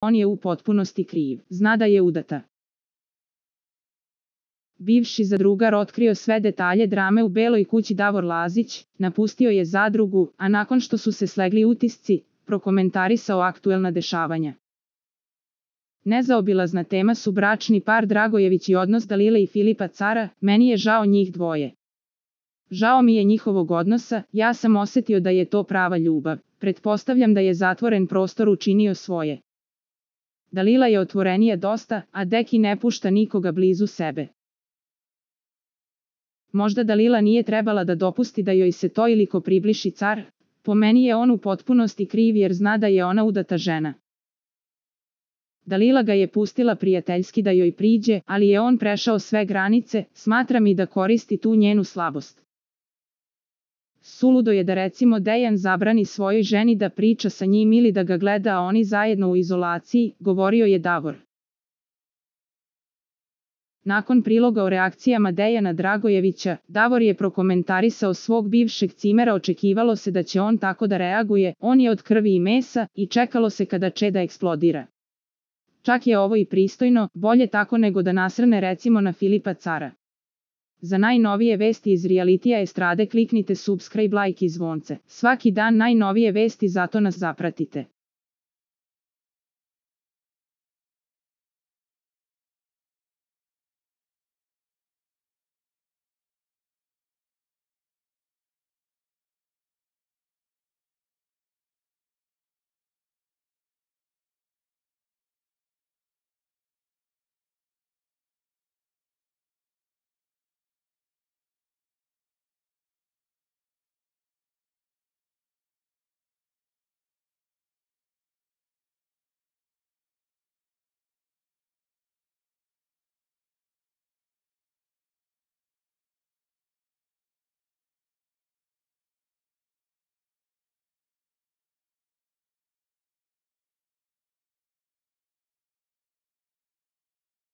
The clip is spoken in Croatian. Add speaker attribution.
Speaker 1: on je u potpunosti kriv, zna da je udata. Bivši zadrugar otkrio sve detalje drame u Beloj kući. Davor Lazić napustio je zadrugu, a nakon što su se slegli utisci, prokomentarisao aktuelna dešavanja. Nezaobilazna tema su bračni par Dragojević i odnos Dalile i Filipa Cara. Meni je žao njih dvoje. Žao mi je njihovog odnosa, ja sam osetio da je to prava ljubav. Pretpostavljam da je zatvoren prostor učinio svoje. Dalila je otvorenija dosta, a Deki ne pušta nikoga blizu sebe. Možda Dalila nije trebala da dopusti da joj se to iliko približi Car. Po meni je on u potpunosti kriv jer zna da je ona udata žena. Dalila ga je pustila prijateljski da joj priđe, ali je on prešao sve granice, smatram i da koristi tu njenu slabost. Suludo je da recimo Dejan zabrani svojoj ženi da priča sa njim ili da ga gleda a oni zajedno u izolaciji, govorio je Davor. Nakon priloga o reakcijama Dejana Dragojevića, Davor je prokomentarisao svog bivšeg cimera. Očekivalo se da će on tako da reaguje, on je od krvi i mesa i čekalo se kada će da eksplodira. Čak je ovo i pristojno, bolje tako nego da nasrne recimo na Filipa Cara. Za najnovije vesti iz realitija estrade kliknite subscribe, like i zvonce. Svaki dan najnovije vesti, zato nas zapratite.